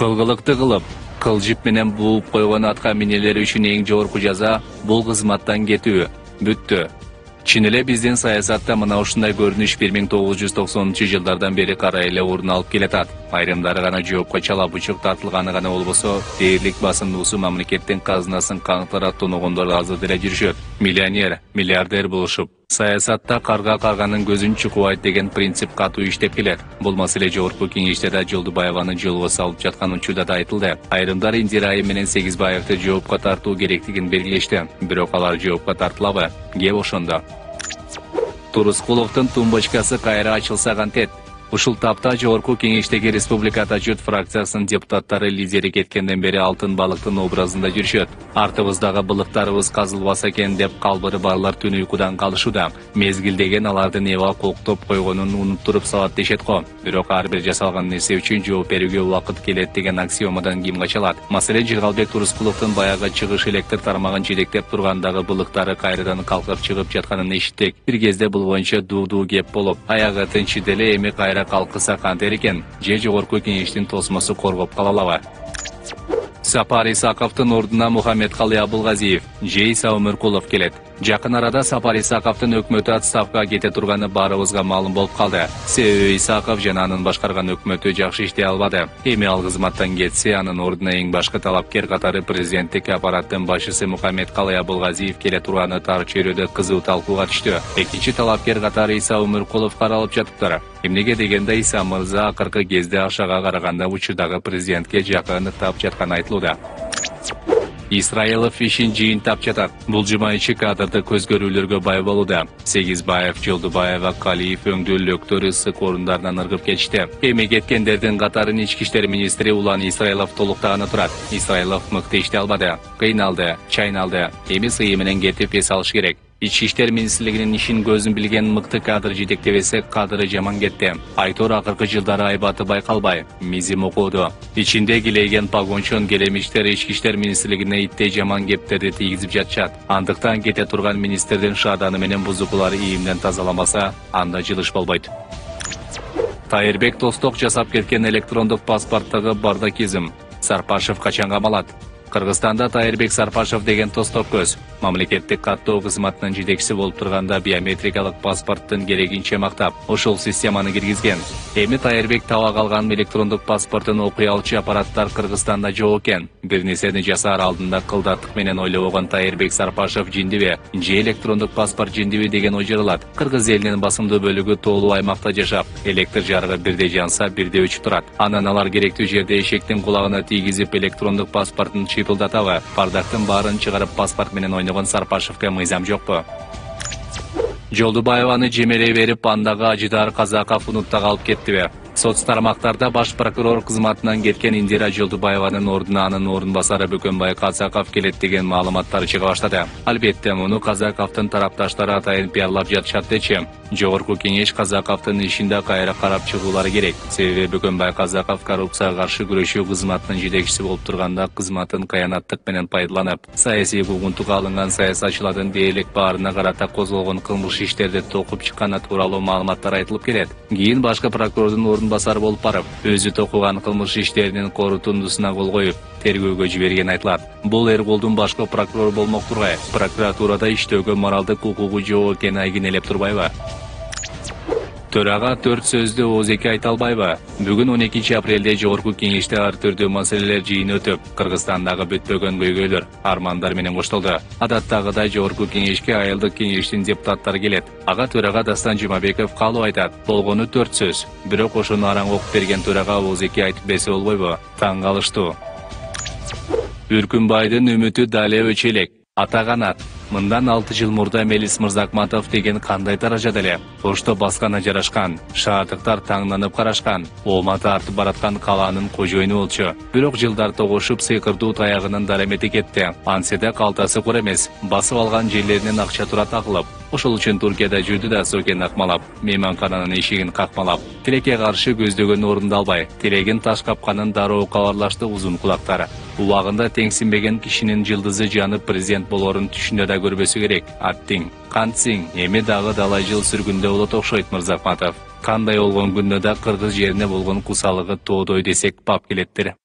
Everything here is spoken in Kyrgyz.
Кылгылыкты кылып, кылжып менен бууп койгон атка минелер үчүн эң жогорку жаза бул кызматтан кетүү. Бүттү. Чын эле биздин саясатта мына ушундай көрүнүш 1990-жылдардан бери кара эле орун алып келатат. Айрымдары гана жоопко чала бучук тартылганы гана болбосо, дээрлик басымдуусу мамлекеттин казынасын каңтара тоногондор азыр деле жүрүшөт. Миллионер, миллиардер болушуп, саясатта карга карганын көзүн чукубайт деген принцип катуу иштеп келет. Бул маселе жогорку кеңеште да Жолдубаеваны жолго салып жаткан учурда да айтылды. Айрымдар Индира Айым менен Сегизбаевди жоопко тартуу керектигин белгилешти. Бирок алар жоопко тартылабы? Кеп ошондо. Турускуловдун тумбочкасы кайра ачылса кантет? Ушул тапта жогорку кеңештеги Республика журт фракциясынын депутаттары лидери кеткенден бери алтын балыктын образында жүрүшөт. Артыбыздагы былыктарыбыз казылбаса экен деп калбыры барлар түн уйкудан калышууда. Мезгилдеген алардын эва коктоп койгонун унуттуруп салат дешет го. Бирок ар бир жасалган нерсе үчүн жооп берүүгө убакыт келет деген аксиомадан ким качалат? Маселен, Жыргалбек Турускуловдун баягы чыгыш электр тармагын жетектеп тургандагы былыктары кайрадан калкып чыгып жатканын эшиттик. Бир кезде бул боюнча дуу кеп болуп, аягы тынчы деле эми кайра калкыса кантер экен? Же жогорку кеңештин тосмосу коргоп калалабы? Сапар Исаковдун ордуна Мухаммедкалый Абылгазиев, же Иса Өмүркулов келет. Жакын арада Сапар Исаковдун өкмөтү отставкага кете турганы баарыбызга маалым болуп калды. Себеби Исаков жана анын башкарган өкмөтү жакшы иштей албады. Эми ал кызматтан кетсе, анын ордуна эң башкы талапкер катары президенттик аппараттын башчысы Мухаммедкалый Абылгазиев келе турганы тар чөйрөдө кызуу талкууга түштү. Экинчи талапкер катары Иса Өмүркулов каралып жатыптыр. Эмнеге дегенде, Иса мырза акыркы кезде Ашага караганда учурдагы президентке жакын тап жатканы айтылууда. Исраилов ишин жыйынтап жатат. Бул жума ичи кадрды көз көрүүлөргө бай болууда. Сегизбаев, Жолдубаева, Калиев өңдөлөктөр ысык орундарынан ыргып кетишти. Эми кеткендердин катарын ички иштер министри Улан Исраилов толуктаганы турат. Исраилов мыкты иштей албады, кыйналды, чайналды. Эми сыйы менен кетип эс алыш керек. Ички иштер министрлигинин ишин көзүн билген мыкты кадр жетектебесе, кадры жаман кетти. Айтор акыркы жылдары айбаты байкалбай, мизи мокуду. Ичинде килейген погончон келемиштер ички иштер министрлигине иттей жаман кептерди тийгизип жатышат. Андыктан кете турган министрдин шааданы менен бузукулары ийимден тазаламаса, анда жылыш болбойт. Тайырбек Тосток жасап кеткен электрондук паспорттогу бардакизм. Сарпашев качан камалат? Кыргызстанда Тайырбек Сарпашев деген Тосток көз мамлекеттик каттоо кызматынын жетекчиси болуп турганда биометрикалык паспорттун керегинче мактап, ошол системаны киргизген. Эми Тайырбек таба калган электрондук паспортун окуй алчу аппараттар Кыргызстанда жок экен. Бир нерсени жасаар алдында кылдаттык менен ойлобогон Тайырбек Сарпашев жиндиби, же электрондук паспорт жиндиби деген ой жаралат. Кыргыз элинин басымдуу бөлүгү тоолуу аймакта жашап, электр жарыгы бирде жанса, бирде өчүп турат. Анан алар керектүү жерде эшектин кулагына тийгизип электрондук паспортун чыйпылдатабы? Бардактын баарын чыгарып паспорт менен ойногон Сарпашевке мыйзам жокпу? Жолдубаеваны жемелей берип, андагы Ажидар Казаков унутта калып кеттиби? Соц тармактарда баш прокурор кызматынан кеткен Индира Жолдубаеванын ордуна анын ордун басары Бөкөнбай Казаков келет деген маалыматтар чыга баштады. Албетте, муну Казаковдун тарапташтары атайын пиарлап жатышат дечи. Жогорку кеңеш Казаковдун ишинде кайра карап чыгуулары керек. Себеби Бөкөнбай Казаков коррупцияга каршы күрөшүү кызматынын жетекчиси болуп турганда кызматын кыянаттык менен пайдаланып, саясий куугунтукка алынган саясатчылардын дээрлик баарына карата козголгон кылмыш иштерди токуп чыкканы тууралуу маалыматтар айтылып келет. Кийин башкы прокурордун ордун басары болуп барып, өзү токуган кылмыш иштеринин корутундусуна кол коюп, тергөөгө жиберген айтылат. Бул Эрголдун башкы прокурор болмок тургай, прокуратурада иштөөгө моралдык укугу жок экени айгинелеп турбайбы? Төрага 4 сөздү ооз-эки айта албайбы? Бүгүн 12 апрелде жогорку кеңеште ар түрдүү маселелер жыйыны өтүп, Кыргызстандагы бүтпөгөн көйгөйлөр, армандар менен коштолду. Адаттагыдай жогорку кеңешке айылдык кеңештин депутаттары келет. Ага төрага Дастан Жумабеков калып айтат. Болгону 4 сөз. Бирок ошону араң окуп берген төрага ооз-эки айтып берсе болбойбу? Таң калыштуу. Үркүнбайдын үмүтү дале өчө элек. Ата канат. Мындан 6 жыл мурда Мелис Мырзакматов деген кандай даражада эле? Ошто баскана жарашкан, шаардыктар таңданып карашкан, ома тартып бараткан калаанын кожоюну болчу. Бирок жылдар тогушуп сыйкырдуу таягынын дарамети кетти. Анседе калтасы кур эмес, басып алган жерлеринен акча тура тагылып. Ошол үчүн Туркияда жүрдү да сокен акмалап, мейманкананын эшигин какмалап, тилекке каршы көздөгөн орундалбай, тилегин таш капканын дароо кабарлашты узун кулактар. Убагында теңсинбеген кишинин жылдызы жанып президент болорун түшүндө да көрбөсү керек. Аттиң, кантсиң, эми дагы далай жыл сүргүндө болот окшойт Мырзакматов. Кандай болгон күндө да кыргыз жерине болгон кусалыгы тоодой десек бап келеттир.